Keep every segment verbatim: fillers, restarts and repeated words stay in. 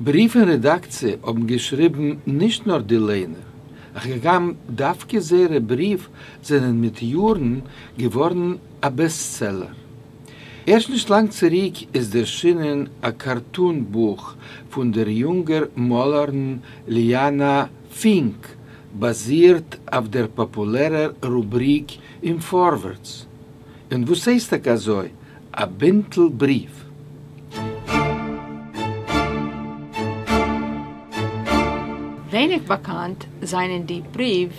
בריוו אין רעדאקציע האבן געשריבן נישט נאר די לייענער, הגם דווקא זייערע בריוו זענען מיט יארן געווארן א בעסטסעלער. ערשט נישט לאנג צוריק איז דערשינען א קארטון-בוך פון דער יונגער מאלערין ליאנא פינק, באזירט אויף דער פאפולערער רובריק אין פארווערטס. און וואס הייסט טאקע אזוי א בינטל בריוו? ווייניק באקאנט זענען די בריוו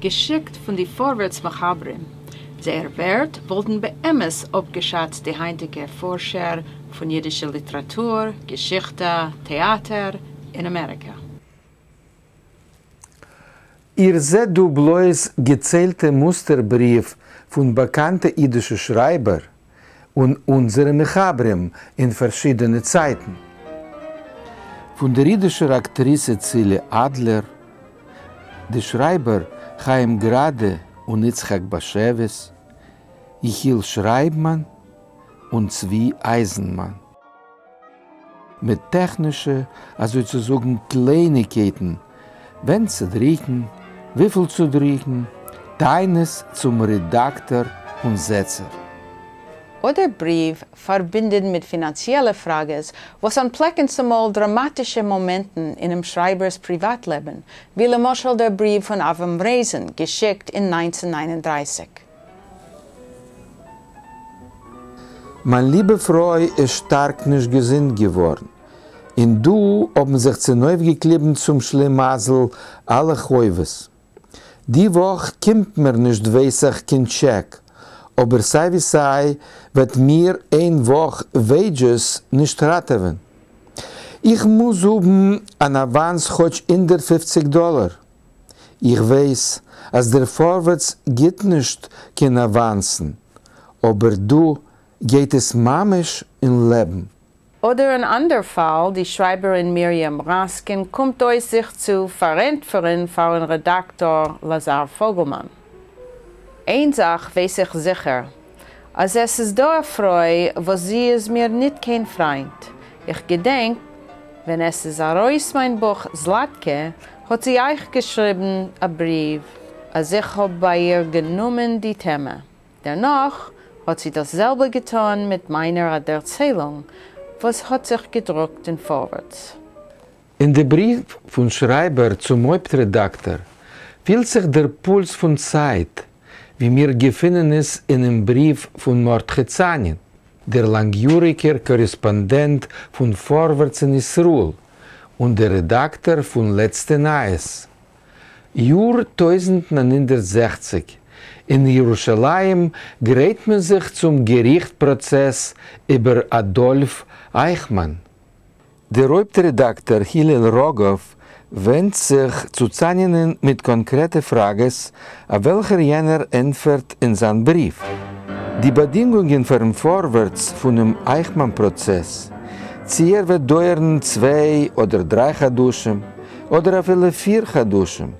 געשיקט פון די פארווערטס מחברים. זייער ווערט וואלטן באמת אפגעשאצט די היינטיגע פארשער פון אידישע ליטעראטור, געשיכטע, טעאטער אין אמעריקע. איר זעט דא בלויז געציילטע מוסטער-בריוו פון באקאנטע אידישע שרייבער און אונזערע מחברים אין פארשידענע צייטן. פון דער אידישער אקטריסע צילי אדלער, די שרייבער חיים גראדע און יצחק באשעוויס, יחיאל שרייבמאן און צבי אייזנמאן. מיט טעכנישע, אזוי צו זאגן, קלייניגקייטן, ווען צו דריקן, וויפיל צו דריקן, טענות צום רעדאקטאר און זעצער. אדער בריוו פארבינדן מיט פינאנציעלע פראגעס וואס אנטפלעקן צומאל דראמאטישע מאמענטן אינעם שרייבער'ס פריוואט-לעבן, ווי למשל דער בריוו פון אברהם רייזען געשיקט אין נײַנצן נײַן און דרײַסיק. מיין ליבע פרוי איז שטארק נישט געזונט געווארן, און דא האבן זיך צונויפגעקליבן צום שלימזל אלע חובות. די וואך קומט מיר נישט ווייסעך קיין טשעק, אבער סיי ווי סיי וועט מיר איין וואך וועידזשעס נישט ראטעווען. איך מוז האבן אן אוואנס כאטש הונדערט פֿופֿציק דאלער. איך ווייס אז דער פארווערטס גיט נישט קיין אוואנסן, אבער דא גייט עס ממש אין לעבן. אדער אן אנדער פאל, די שרייבערין מרים ראסקין קומט אויס זיך צו פארענטפערן פאר'ן רעדאקטאר לאזאר פאגעלמאן. איין זאך ווייס איך זיכער, אז עס איז דא א פרוי וואס זי איז מיר ניט קיין פריינט. איך געדענק ווען עס איז ארויס מיין בוך זלאטקע, האט זי אייך געשריבן א בריוו, אז איך האב ביי איר גענומען די טעמע. דערנאך האט זי דאס זעלבע געטאן מיט מיינער א דערציילונג, וואס האט זיך געדרוקט אין פארווערטס. אין די בריוו פון שרייבער צום הויפט-רעדאקטאר פילט זיך דער פולס פון צייט, ווי מיר געפינען עס אינעם בריוו פון מרדכי צאנין, דער לאנגיאריגער קארעספאנדענט פון פארווערטס אין ישראל און דער רעדאקטאר פון לעצטע נייעס. יאר טויזנט נײַן הונדערט זעכציק, אין ירושלים גרייט מען זיך צום געריכט פראצעס איבער אדאלף אייכמאן. דער הויפט רעדאקטאר הילל ראגאוו ווענדט זיך צו צאנינען מיט קאנקרעטע פראגעס אויף וועלכער יענער ענטפערט אין זיין בריוו. די באדינגונגען פארן פארווערטס פונעם אייכמאן פראצעס, צי ער וועט דויערן צוויי אדער דריי חדשים, אדער אפילו פיר חדשים,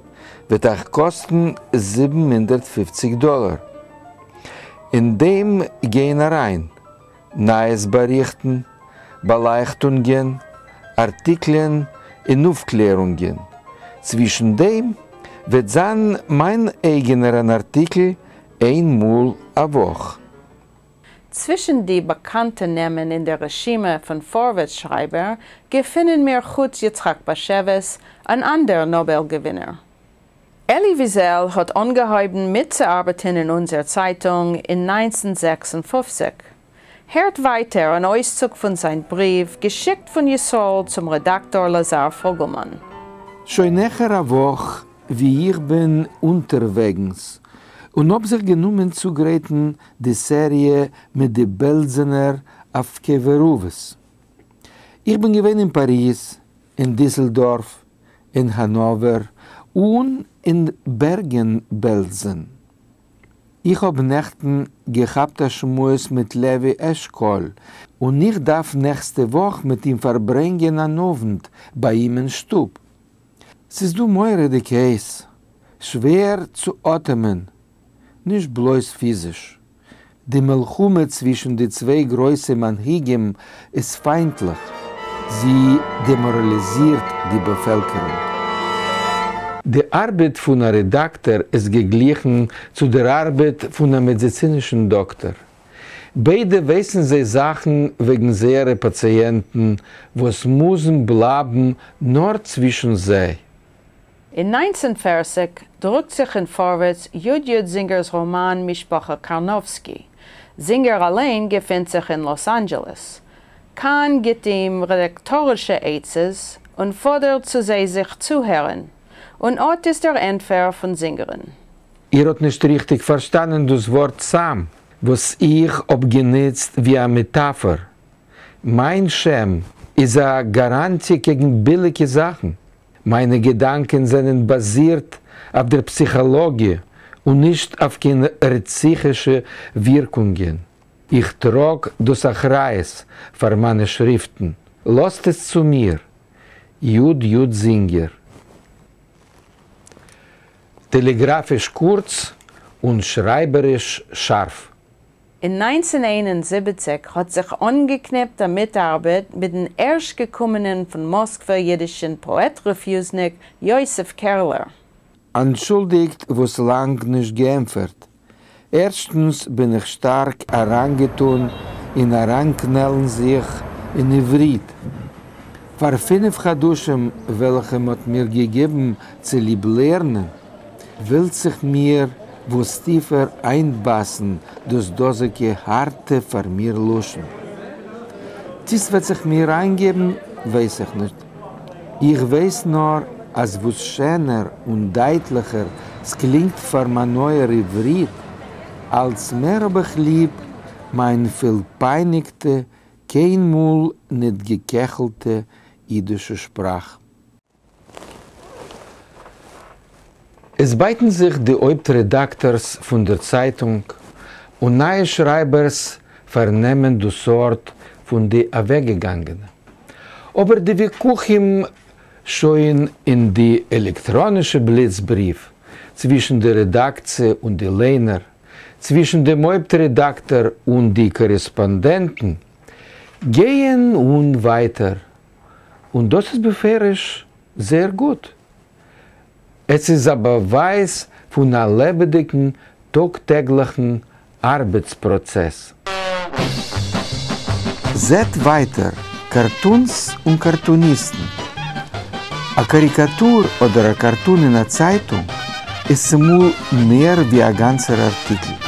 וועט אייך קאסטן זיבן הונדערט פֿופֿציק דאלער. אין דעם גייען אריין, נייעס באריכטן, באלייכטונגען, ארטיקלען און אויפקלערונגען. צווישן דעם וועט זיין מיין אייגענער אן ארטיקל איין מאל א וואך. צווישן די באקאנטע נעמען אין דער רשימה פון פארווערטס שרייבער געפינען מיר חוץ יצחק באשעוויס אן אנדער נאבעל געווינער. אלי וויזעל האט אנגעהויבן מיטצוארבעטן אין אונזער צייטונג אין נײַנצן זעקס און פֿופֿציק. הערט ווייטער אן אויסצוג פון זיין בריוו געשיקט פון ישראל צום רעדאקטאר לאזאר פאגעלמאן. שוין העכער א וואך ווי איך בין אונטערוועגנס און האב זיך גענומען צוגרייטן די סעריע מיט די בעלזענער אויף קבר אבות. איך בין געווען אין פאריז, אין דיסלדארף, אין האנאווער און אין בערגען-בעלזען. איך האב נעכטן געכאפט א שמועס מיט לוי אשכול און איך דארף נעקסטע וואך מיט אים פארברענגען אן אוונט ביי אים אין שטוב. ס'איז דא מורא'דיג הייס, שווער צו אטעמען, נישט בלויז פיזיש. די מלחמה צווישן די צוויי גרויסע מנהיגים איז פיינטליך. זי דעמאראליזירט די באפעלקערונג. די ארבעט פון א רעדאקטאר איז געגליכן צו דער ארבעט פון א מעדיצינישן דאקטאר. ביידע ווייסן זיי זאכן וועגן זייערע פאציענטן, וואס מוזן בלייבן נאר צווישן זיי. אין נײַנצן פֿערציק דרוקט זיך אין פֿאָרווערטס י. י. זינגערס ראָמאַן משפּחה קאַרנאָווסקי. זינגער אַליין געפֿינט זיך אין לאָס-אַנדזשעלעס. קאַהן גיט אים רעדאַקטאָרישע עצות און פֿאָדערט צו זיי זיך צוהערן. און אָט איז דער ענטפֿער פֿון זינגערן. איר האָט נישט ריכטיק פֿאַרשטאַנען דאָס וואָרט סם, וואָס איך האָב גענוצט ווי אַ מעטאַפֿאָר. מײַן שם איז אַ גאַראַנטיע קעגן ביליקע זאַכן. מײַנע געדאַנקען זענען באַזירט אויף דער פּסיכאָלאָגיע און נישט אויף קיין רציחישע ווירקונגען. איך טראָג דאָס אַחריות פֿאַר מײַנע שריפֿטן. לאָזט עס צו מיר. י. י. זינגער. טעלעגראַפֿיש קורץ און שרײַבעריש שאַרף. אין נײַנצן איין און זיבעציק האָט זיך אָנגעקניפּט אַ מיטאַרבעט מיטן ערשט-געקומענעם פֿון מאָסקווער ייִדישן פּאָעט-רעפֿוזניק יוסף קערלער. אנטשולדיגט וואס לאנג נישט געענפערט. ערשטנס בין איך שטארק אריינגעטון אין אריינקנעלן זיך אין עברית. פאר פינף חדשים וועלכע מ'האט מיר געגעבן צוליב לערנען, ווילט זיך מיר וואס טיפער איינבאסן דאס דאזיגע הארטע פאר מיר לשון. צי ס'וועט זיך מיר איינגעבן ווייס איך נישט. איך ווייס נאר אז וואס שענער און דייטליכער ס'קלינגט פאר מיין אויער עברית, אלץ מער האב איך ליב מיין פילפייניגטע, קיינמאל ניט געקעכלטע אידישע שפראך. עס בייטן זיך די הויפט-רעדאקטארס פון דער צייטונג, און נייע שרייבערס פארנעמען דאס ארט פון די אוועקגעגאנגענע. אבער די וויכוחים שוין אין די עלעקטראנישע בליץ-בריוו צווישן די רעדאקציע און די ליינער, צווישן דעם הויפט-רעדאקטאר און די קארעספאנדענטן, גייען אן ווייטער, און דאס איז בפירוש זייער גוט. עס איז א באווייז פון א לעבעדיגן טאג-טעגליכן ארבעטס-פראצעס. זעט ווייטער, קארטונס און קארטוניסטן. א קאריקאטור אדער א קארטון אין א צייטונג איז צומאל מער ווי א גאנצער ארטיקל.